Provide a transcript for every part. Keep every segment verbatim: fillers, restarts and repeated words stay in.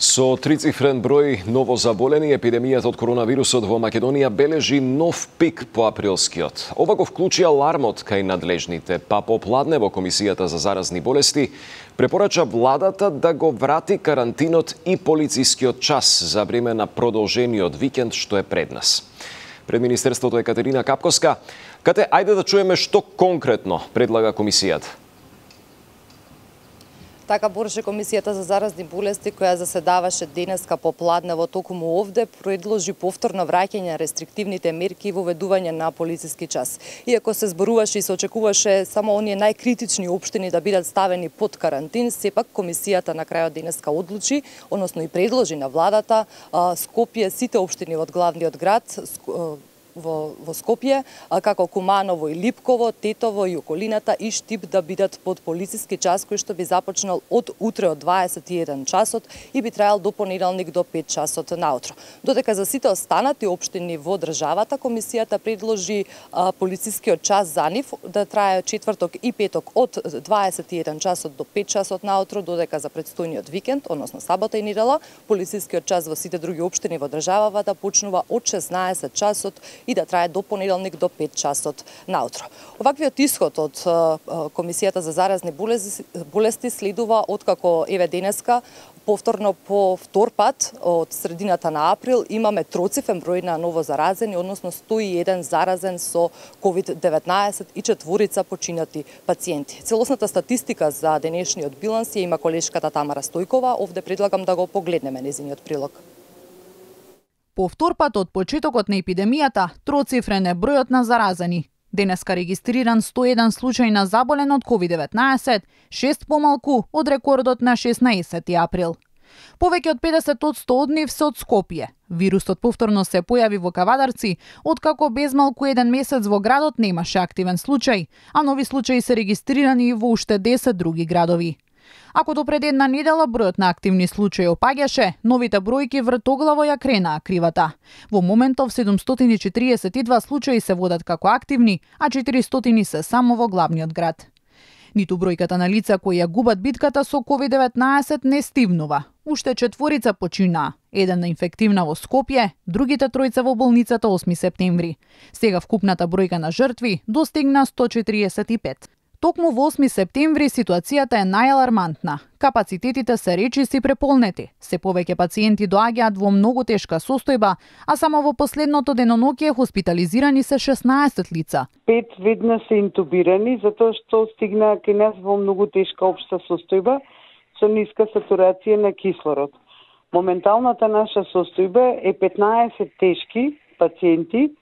Со трицифрен број новозаболени, епидемијата од коронавирусот во Македонија бележи нов пик по априлскиот. Ова го вклучи алармот кај надлежните, па попладне во Комисијата за заразни болести препорача владата да го врати карантинот и полицискиот час за време на продолжениот викенд што е пред нас. Пред Министерството е Катерина Капковска. Кате, ајде да чуеме што конкретно предлага Комисијата. Така, Борче, Комисијата за заразни болести, која заседаваше денеска попладнево токму овде, предложи повторно враќање на рестриктивните мерки и воведување на полициски час. Иако се зборуваше и се очекуваше само оние најкритични општини да бидат ставени под карантин, сепак Комисијата на крајот денеска одлучи, односно и предложи на владата, Скопје, сите општини од главниот град, Во, во Скопје, како Куманово и Липково, Тетово и околината и Штип да бидат под полициски час кој што би започнал од утре од дваесет и еден часот и би траел до понеделник до пет часот наутро. Додека за сите останати општини во државата, Комисијата предложи а, полицискиот час за нив да трае четврток и петок од дваесет и еден часот до пет часот наутро, додека за предстојниот викенд, односно сабота и недела, полицискиот час во сите други општини во државата да почнува од шеснаесет часот и да трае до понеделник до пет часот наутро. Оваквиот исход од Комисијата за заразни болести, болести следува откако еве денеска повторно по втор пат од средината на април имаме троцифрен број на новозаразени, односно сто и еден заразен со ковид деветнаесет и четворица починати пациенти. Целосната статистика за денешниот биланс ја има колешката Тамара Стојкова, овде предлагам да го погледнеме нејзиниот прилог. По втор пат од почетокот на епидемијата, троцифрен е бројот на заразени. Денеска регистриран сто и еден случај на заболен од ковид деветнаесет, шест помалку од рекордот на шеснаесети април. Повеќе од педесет одсто од нив се од Скопје. Вирусот повторно се појави во Кавадарци, откако без малку еден месец во градот немаше активен случај, а нови случаи се регистрирани и во уште десет други градови. Ако до пред една недела бројот на активни случаи опаѓаше, новите бројки вртоглаво ја кренаа кривата. Во моментов седумстотини и четириесет и два случаи се водат како активни, а четиристотини се само во главниот град. Ниту бројката на лица кои ја губат битката со ковид деветнаесет не стивнува. Уште четворица починаа, еден на инфективна во Скопје, другите тројца во болницата осми септември. Сега вкупната бројка на жртви достигна сто четириесет и пет. Токму во осми септември ситуацијата е најалармантна. Капацитетите се речиси преполнети. Се повеќе пациенти доаѓаат во многу тешка состојба, а само во последното деноноќе хоспитализирани се шеснаесет лица. Пет веднаш се интубирани затоа што стигнаа кај нас во многу тешка општа состојба со ниска сатурација на кислород. Моменталната наша состојба е петнаесет тешки пациенти,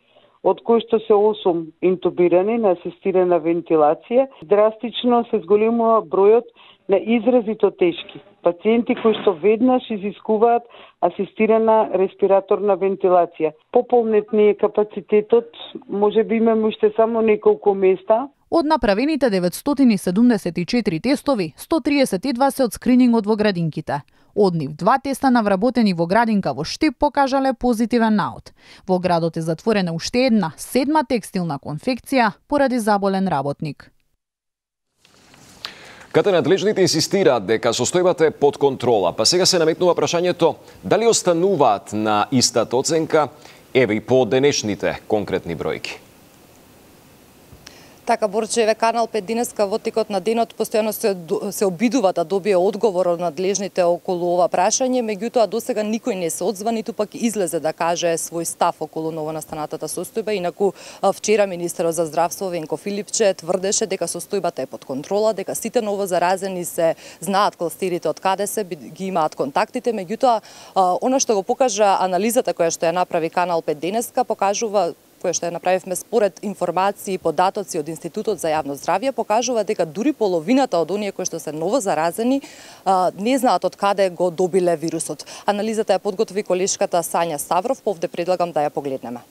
од кои што се осум интубирани на асистирана вентилација. Драстично се зголемува бројот на изразито тешки пациенти кои што веднаш изискуваат асистирана респираторна вентилација. Пополнет ни е капацитетот, може би имаме уште само неколку места. Од направените деветстотини и седумдесет и четири тестови, сто триесет и два се од скринингот во градинките. Од нив два теста навработени во градинка во Штип покажале позитивен наод. Во градот е затворена уште една, седма текстилна конфекција поради заболен работник. Кате надлежните инсистираат дека состојбата е под контрола, па сега се наметнува прашањето дали остануваат на истата оценка, еве и по денешните конкретни бројки. Така, Борче, еве Канал пет денеска во текот на денот постојано се, се обидува да добие одговор од надлежните околу ова прашање, меѓутоа досега никој не се одзва, ниту пак излезе да каже свој став околу новонастанатата состојба. Инаку вчера министерот за здравство Венко Филипче тврдеше дека состојбата е под контрола, дека сите новозаразени се знаат кластерите од каде се, ги имаат контактите, меѓутоа она што го покажа анализата која што ја направи Канал пет денеска покажува која што ја направивме според информации и податоци од Институтот за јавно здравје, покажува дека дури половината од оние кои што се новозаразени не знаат од каде го добиле вирусот. Анализата ја подготви колешката Сања Ставров, овде предлагам да ја погледнеме.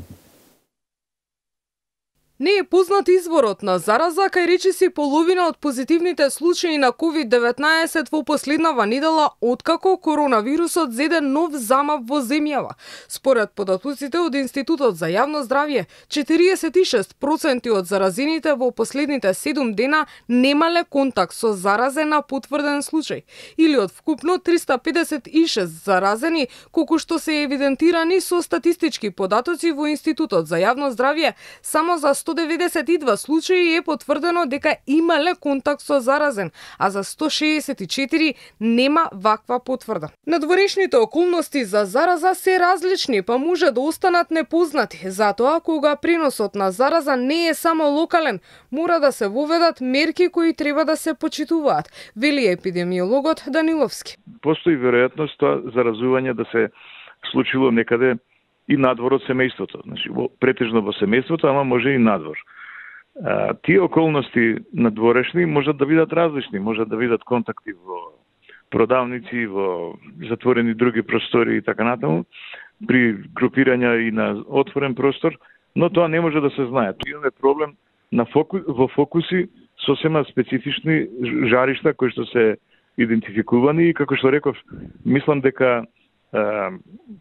Не е познат изворот на зараза, кај речиси половина од позитивните случаи на ковид деветнаесет во последнава недела откако коронавирусот зеде нов замав во земјава. Според податоците од Институтот за јавно здравје, четириесет и шест проценти од заразените во последните седум дена немале контакт со заразен на потврден случај, или од вкупно триста педесет и шест заразени, колку што се евидентирани со статистички податоци во Институтот за јавно здравје, само за сто деветдесет и два случаи е потврдено дека имале контакт со заразен, а за сто шеесет и четири нема ваква потврда. Надворешните околности за зараза се различни, па може да останат непознати. Затоа, кога преносот на зараза не е само локален, мора да се воведат мерки кои треба да се почитуваат, вели епидемиологот Даниловски. Постои веројатност тоа заразување да се случило некаде и надвор од семејството, значи претежно во семејството, ама може и надвор. А, тие околности надворешни можат да бидат различни, можат да бидат контакти во продавници, во затворени други простори и така натаму, при групирања и на отворен простор, но тоа не може да се знае. Имаме проблем на фоку, во фокуси сосема специфични жаришта кои што се идентификувани и како што реков, мислам дека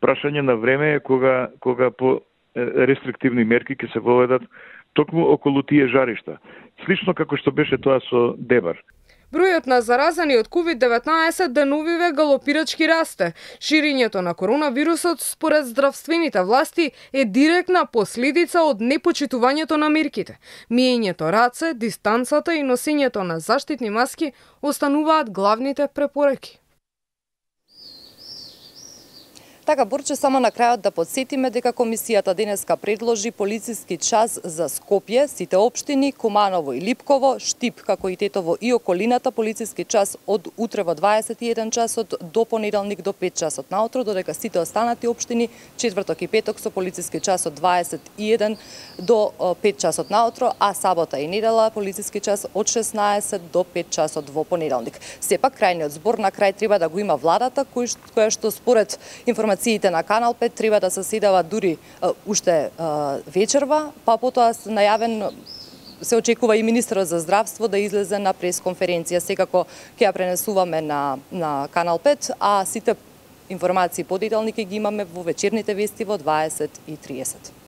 прашање на време е кога, кога по рестриктивни мерки ќе се воведат токму околу тие жаришта. Слично како што беше тоа со Дебар. Бројот на заразени од ковид деветнаесет деновиве галопирачки расте. Ширењето на коронавирусот според здравствените власти е директна последица од непочитувањето на мерките. Миењето раце, дистанцата и носењето на заштитни маски остануваат главните препораки. Така, Борче, само на крајот да подсетиме дека комисијата денеска предложи полициски час за Скопје, сите општини, Куманово и Липково, Штип, како и Тетово и околината, полициски час од утре во дваесет и еден часот до понеделник до пет часот наутро, додека сите останати општини, четврток и петок со полициски час од дваесет и еден до пет часот наутро, а сабота и недела полициски час од шеснаесет до пет часот во понеделник. Сепак, крајниот збор на крај треба да го има владата, која што според информацијата на Канал пет треба да се седава дури uh, уште uh, вечерва, па потоа најавен се очекува и министерот за здравство да излезе на пресконференција. Секако ќе ја пренесуваме на, на Канал пет, а сите информации подетални ќе ги имаме во вечерните вести во дваесет и триесет.